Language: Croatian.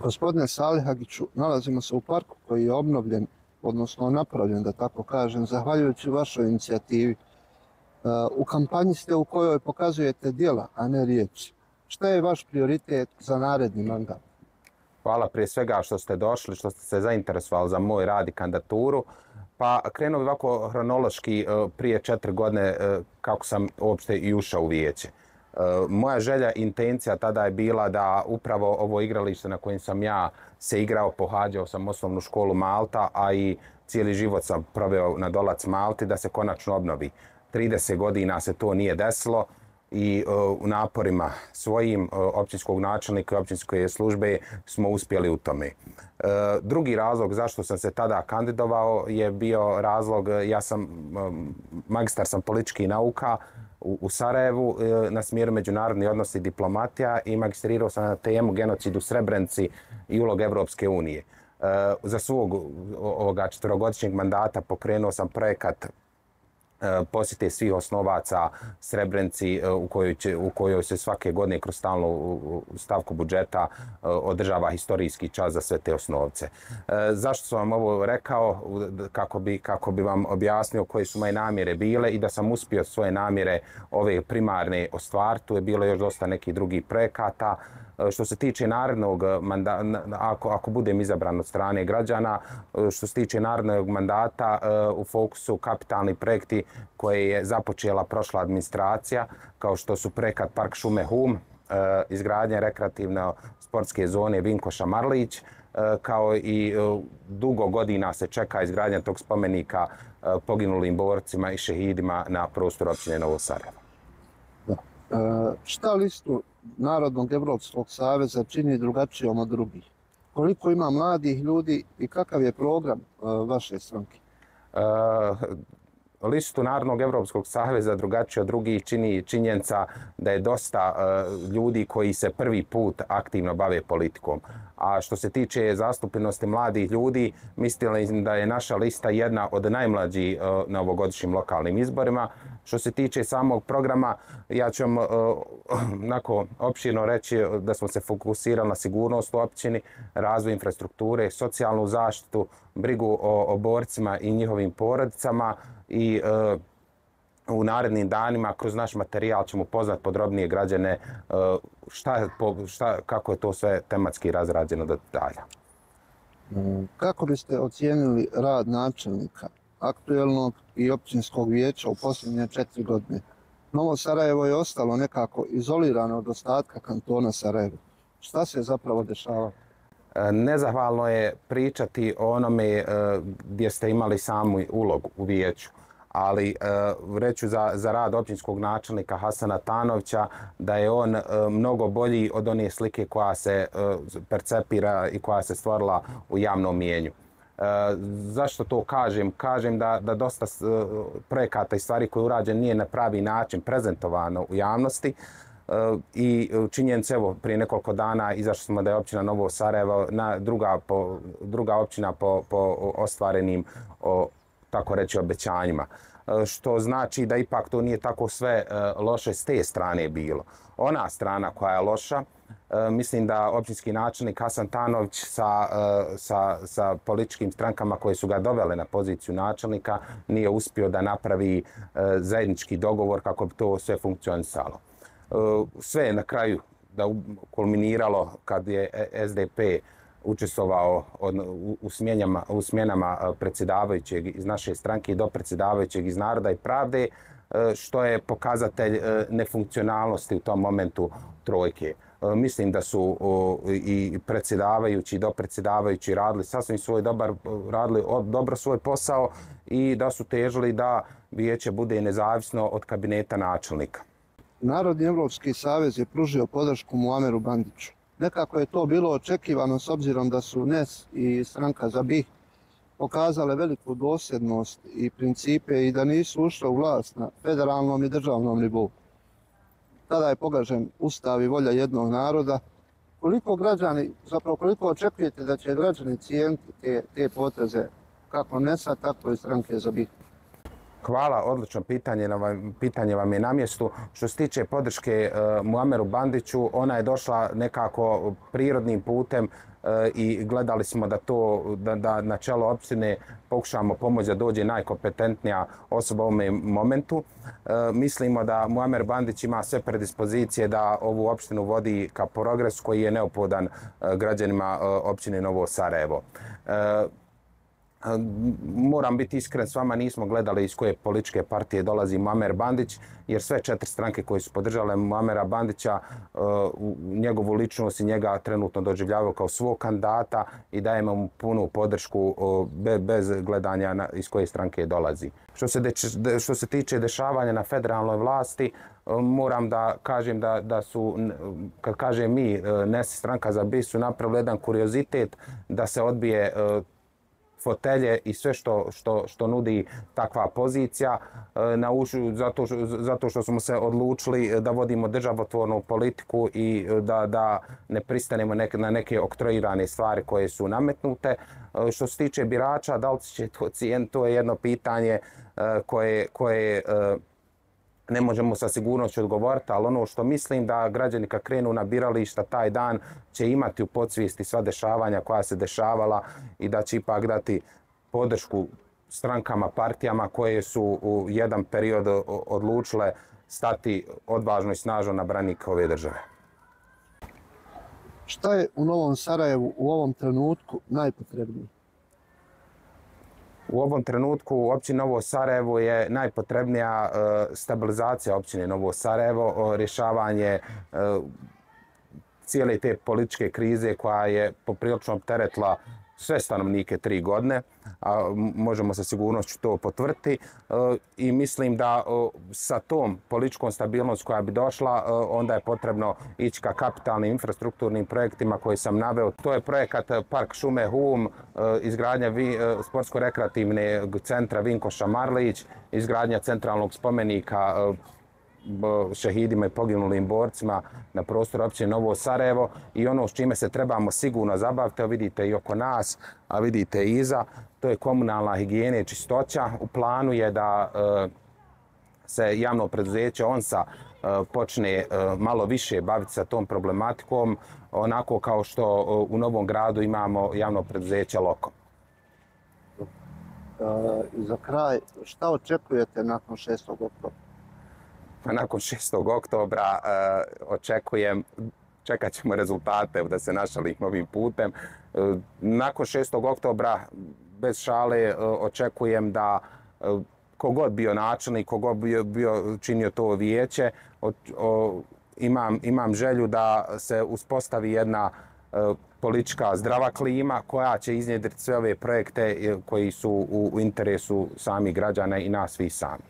Gospodine Salihagiću, nalazimo se u parku koji je obnovljen, odnosno napravljen, da tako kažem, zahvaljujući vašoj inicijativi. U kampanji ste u kojoj pokazujete djela, a ne riječi. Šta je vaš prioritet za naredni mandat? Hvala prije svega što ste došli, što ste se zainteresovali za moj rad i kandidaturu. Pa krenuo bi ovako hronološki prije 4 godine kako sam uopšte i ušao u vijeće. Moja želja i intencija tada je bila da upravo ovo igralište na kojem sam ja se igrao, pohađao sam osnovnu školu Malta, a i cijeli život sam proveo na Dolac Malti, da se konačno obnovi. 30 godina se to nije desilo i u naporima svojim općinskog načelnika i općinske službe smo uspjeli u tome. Drugi razlog zašto sam se tada kandidovao je bio razlog, magistar sam političkih nauka u Sarajevu na smjeru međunarodni odnosi i diplomatija i magistrirao sam na temu genocid u Srebrenici i ulog Evropske unije. Za svog ovoga 4-godišnjeg mandata pokrenuo sam projekat posjete svih osnovaca Srebrenici u kojoj se svake godine kroz stalnu stavku budžeta održava historijski čas za sve te osnovce. Zašto sam vam ovo rekao? Kako bi vam objasnio koje su moje namjere bile i da sam uspio svoje namjere ove primarne ostvariti. Tu je bilo još dosta nekih drugih projekata. Što se tiče narednog mandata, ako budem izabran od strane građana, što se tiče narednog mandata, u fokusu kapitalni projekti koje je započela prošla administracija, kao što su projekat Park šume Hum, izgradnja rekreativne sportske zone Vinkoša Marlić, kao i dugo godina se čeka izgradnja tog spomenika poginulim borcima i šehidima na prostoru općine Novo Sarajevo. Šta listu Narodnog Evropskog saveza čini drugačijom od drugih? Koliko ima mladih ljudi i kakav je program vaše stranke? Listu Narodnog Evropskog saveza drugačije od drugih čini činjenica da je dosta ljudi koji se prvi put aktivno bave politikom. A što se tiče zastupljenosti mladih ljudi, mislim da je naša lista jedna od najmlađih na ovogodišnjim lokalnim izborima. Što se tiče samog programa, ja ću vam opširno reći da smo se fokusirali na sigurnost u općini, razvoj infrastrukture, socijalnu zaštitu, brigu o borcima i njihovim porodicama i u narednim danima kroz naš materijal ćemo upoznati podrobnije građane kako je to sve tematski razrađeno do detalja. Kako biste ocijenili rad načelnika aktuelnog i općinskog vijeća u posljednje 4 godine? Novo Sarajevo je ostalo nekako izolirano od ostatka kantona Sarajevo. Šta se zapravo dešava? Nezahvalno je pričati o onome gdje ste imali samu ulogu u vijeću, ali reću za rad općinskog načelnika Hasana Tanovića da je on mnogo bolji od one slike koja se percepira i koja se stvorila u javnom mijenju. Zašto to kažem? Kažem da dosta projekata i stvari koje je urađen nije na pravi način prezentovano u javnosti i činjenica, evo, prije nekoliko dana izašli smo da je općina Novo Sarajevo druga općina po ostvarenim, tako reći, obećanjima. Što znači da ipak to nije tako sve loše s te strane bilo. Ona strana koja je loša, mislim da općinski načelnik Hasan Tanović sa političkim strankama koje su ga dovele na poziciju načelnika nije uspio da napravi zajednički dogovor kako bi to sve funkcionisalo. Sve je na kraju kulminiralo kad je SDP učestvovao u smjenama predsjedavajućeg iz naše stranke do predsjedavajućeg iz Naroda i pravde, što je pokazatelj nefunkcionalnosti u tom momentu trojke. Mislim da su i predsjedavajući i dopredsjedavajući radili sasvim dobro svoj posao i da su težili da vijeće bude nezavisno od kabineta načelnika. Narodni Evropski savez je pružio podršku Muameru Bandiću. Nekako je to bilo očekivano s obzirom da su NES i stranka za BiH pokazale veliku dosljednost i principe i da nisu ušle u vlast na federalnom i državnom nivou. Tada je pogažen ustav i volja jednog naroda. Koliko očekujete da će građani cijeniti te poteze kako NES-a, tako i stranke za BiH? Hvala, odlično pitanje vam je na mjestu. Što se tiče podrške Muameru Bandiću, ona je došla nekako prirodnim putem i gledali smo da na čelo opštine pokušamo pomoći da dođe najkompetentnija osoba u ovom momentu. Mislimo da Muamer Bandić ima sve predispozicije da ovu opštinu vodi ka progresu koji je neophodan građanima opštine Novo Sarajevo. Moram biti iskren s vama, nismo gledali iz koje političke partije dolazi Muamer Bandić, jer sve 4 stranke koje su podržale Muamera Bandića njegovu ličnost i njega trenutno doživljavaju kao svog kandidata i dajemo mu punu podršku bez gledanja iz koje stranke dolazi. Što se tiče dešavanja na federalnoj vlasti, moram da kažem da su, kad kažem mi, NES stranka za BIH su napravili jedan kuriozitet da se odbije fotelje i sve što nudi takva pozicija zato što smo se odlučili da vodimo državotvornu politiku i da ne pristanemo na neke oktroirane stvari koje su nametnute. Što se tiče birača, da li će to cijeniti, to je jedno pitanje koje ne možemo sa sigurnošću odgovoriti, ali ono što mislim da građani kad krenu na birališta taj dan će imati u podsvijesti sva dešavanja koja se dešavala i da će ipak dati podršku strankama, partijama koje su u jedan period odlučile stati odvažno i snažno na branik ove države. Šta je u Novom Sarajevu u ovom trenutku najpotrebnije? U ovom trenutku u općini Novo Sarajevo je najpotrebnija stabilizacija općine Novo Sarajevo, rješavanje cijele te političke krize koja je poprilično opteretila sve stanovnike 3 godine, a možemo sa sigurnošću to potvrditi. I mislim da sa tom političkom stabilnost koja bi došla, onda je potrebno ići ka kapitalnim infrastrukturnim projektima koje sam naveo. To je projekat Park šume Hum, izgradnja sportsko-rekreativnog centra Vinkoša Marlić, izgradnja centralnog spomenika šehidima i poginulim borcima na prostoru općine Novo Sarajevo i ono s čime se trebamo sigurno zabaviti, vidite i oko nas, a vidite i iza, to je komunalna higijena i čistoća. U planu je da se javno preduzeće ONSA počne malo više baviti sa tom problematikom, onako kao što u Novom Gradu imamo javno preduzeće Loko. I za kraj, šta očekujete nakon 6. oktobra? Nakon 6. oktobra čekat ćemo rezultate da se našalim ovim putem. Nakon 6. oktobra, bez šale, očekujem da kogod bio načelnik, kogod bio činio to vijeće, imam želju da se uspostavi jedna politička zdrava klima koja će iznjedriti sve ove projekte koji su u interesu samih građana i nas svih sami.